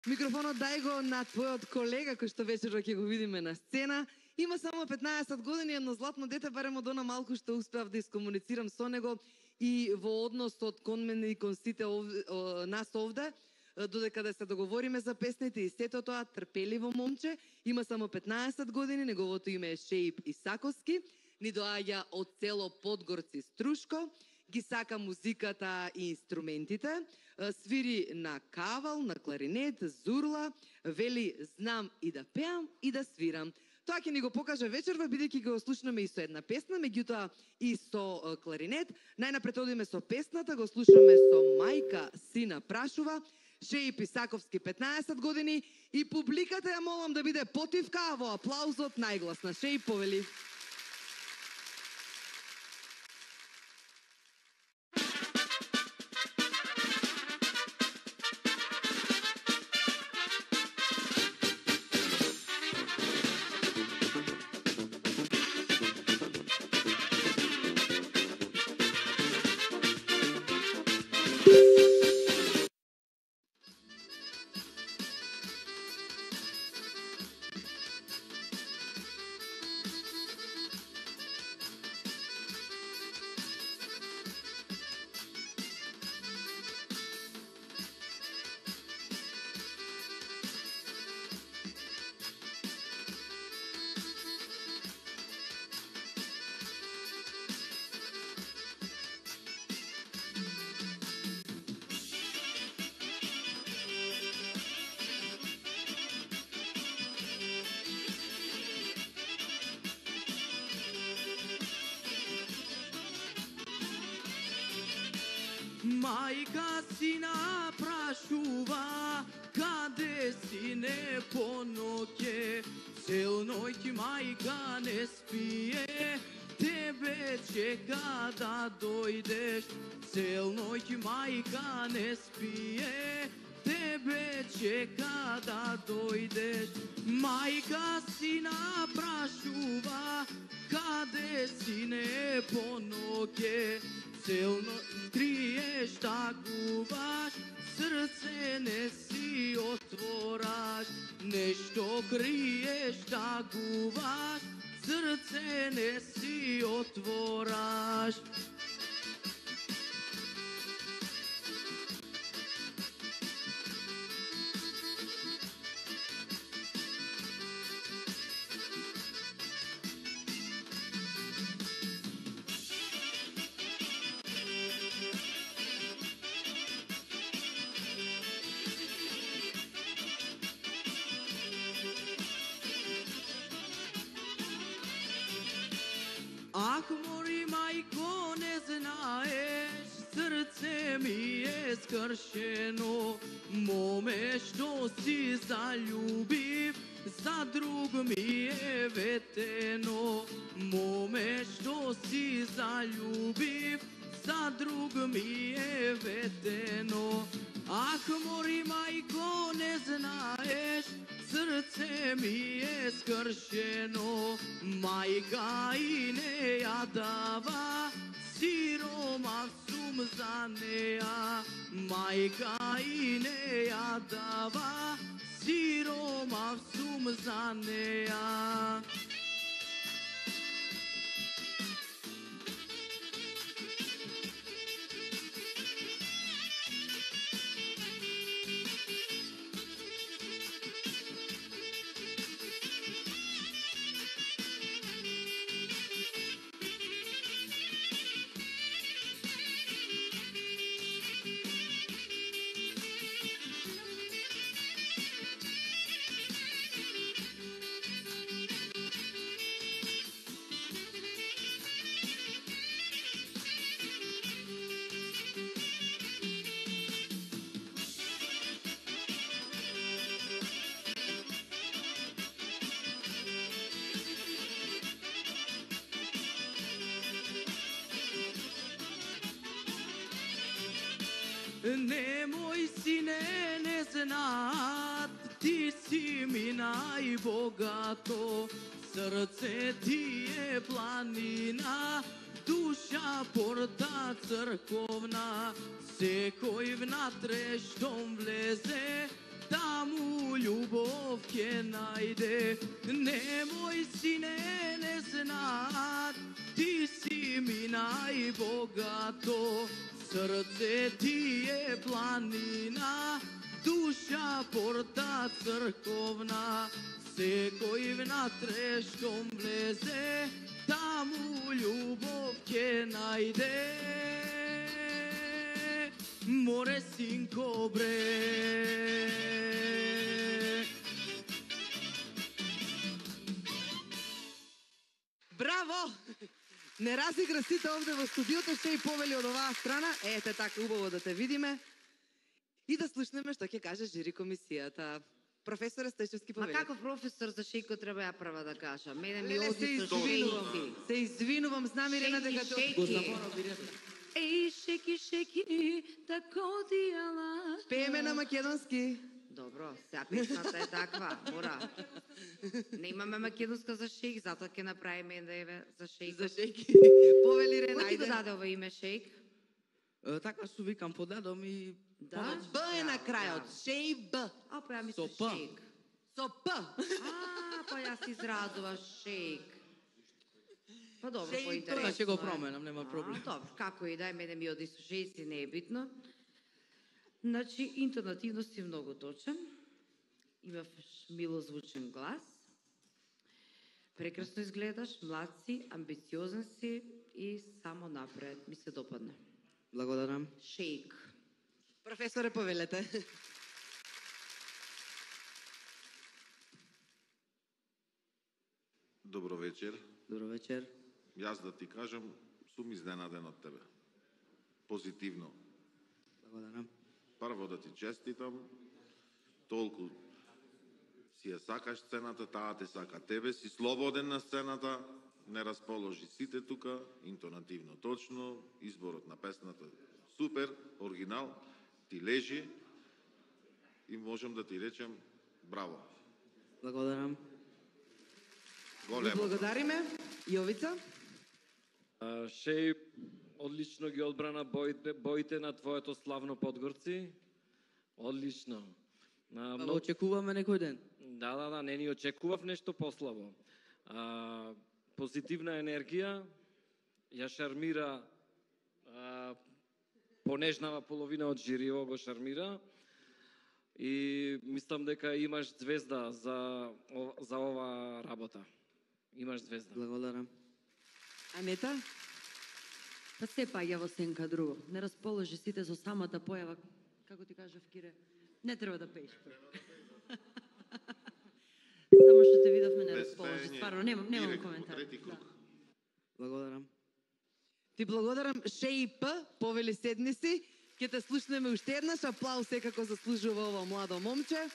Микрофонот дај го на твојот колега кој што вечерва ќе го видиме на сцена. Има само 15 години, едно златно дете, барем од она малку што успеав да искомуницирам со него и во односот кон мене и кон сите нас овде, додека да се договориме за песните и сето тоа, трпеливо момче, има само 15 години, неговото име е Шеип Исаковски, ни доаѓа од село Подгорци Струшко, ги сака музиката и инструментите, свири на кавал, на кларинет, зурла, вели знам и да пеам и да свирам. Тоа ќе ни го покаже вечерва, бидејќи го слушнаме и со една песна, меѓутоа и со кларинет. Најнапред одиме со песната, го слушаме со Мајка сина прашува, Шеип Исаковски 15 години и публиката ја молам да биде потивка, а во аплаузот најгласна. Шеип, повели. Мајка сина прашува, каде си не по ноќе, цел ноќ мајка не спие, тебе чека да дојдеш, цел ноќ мајка не спие, тебе чека да дојдеш. Мајка сина прашува, каде си не по ноќе, цел ноќ криеш, тагуваш, срце не си отвораш, нешто криеш, тагуваш, срце не си отвораш. Ах, мори мајко, не знаеш, срце ми е скршено, моме што си заљубив, за друг ми е ветено, моме што си заљубив, за друг ми е ветено. Ах, мори мајко, не знаеш, срце ми е скршено, мајка и не ја дава, сиромав сум за неа, мајка и не ја дава, сиромав сум за неа. Немој сине, не знаат, ти си ми најбогато, срце ти е планина, душа порта црковна, секој внатре штом влезе, таму љубов ќе најде. Немој сине незнат, ти си ми најбогато. Срце ти е планина, душа порта црковна. Секој внатре штом влезе, таму љубов ќе најде. Море синко бре. Браво! Не разигра сите овде во студиото, ще и повели од оваа страна. Ете така убаво да те видиме. И да слушнеме што ќе каже жири комисијата. Професоре Стојчевски, Ма повелете. каков професор за шејко треба ја прва да кажам? Мене ми Леле, се оди со извинувам. шејки. Се извинувам, знам Ирена дека те Шејки, шејки. Еј, шејки, шејки, тако ти ала. пееме на македонски. Добро, сега песната е таква, мора. Не имаме македонска за шејк, затоа ќе направиме да е за шејк. За шејки. Повели Ирена, Кој ти го ајде. даде ова име шејк? Така су викам подадом и Да? Б е на крајот. Шеј Б. А, па ја Со мислам П. шејк. Со П. А, па јас изразува шејк. Па добро, Шејк, поинтересно Тоа ќе го е. променам, нема проблем. Добро, како и да е, мене ми оди со шејци, не е битно. Значи, интонативно си многу точен. Имаш милозвучен глас. Прекрасно изгледаш, млад си, амбициозен си и само напред. Ми се допадна. Благодарам. Шејк. Професоре, повелете. Добро вечер. Добро вечер. Јас да ти кажам, сум изненаден од тебе. Позитивно. Благодарам. Прво да ти честитам, толку си ја сакаш сцената, таа те сака тебе, си слободен на сцената, не расположи сите тука, интонативно точно, изборот на песната супер, оригинал, ти лежи и можам да ти речем браво. Благодарам. Ви Големо. благодариме. Јовица. Шеј, одлично ги одбрана боите на твоето славно Подгорци. Одлично. Го очекуваме некој ден. Да, не ни очекував нешто послабо. Позитивна енергија, ја шармира понежнава половина од жириво го шармира и мислам дека имаш звезда за ова работа. Имаш звезда. Благодарам. Анета. Па се паѓа во сенка друго. Не расположи сите со самата појава, како ти кажав, Кире, не треба да пееш. Само што те видовме не расположи, стварно, немам директно, коментар. трети круг. Благодарам. Ти благодарам. Шеј П. Повели седни си. Ќе те слушнеме уште еднаш. Аплауз секако заслужува ова младо момче.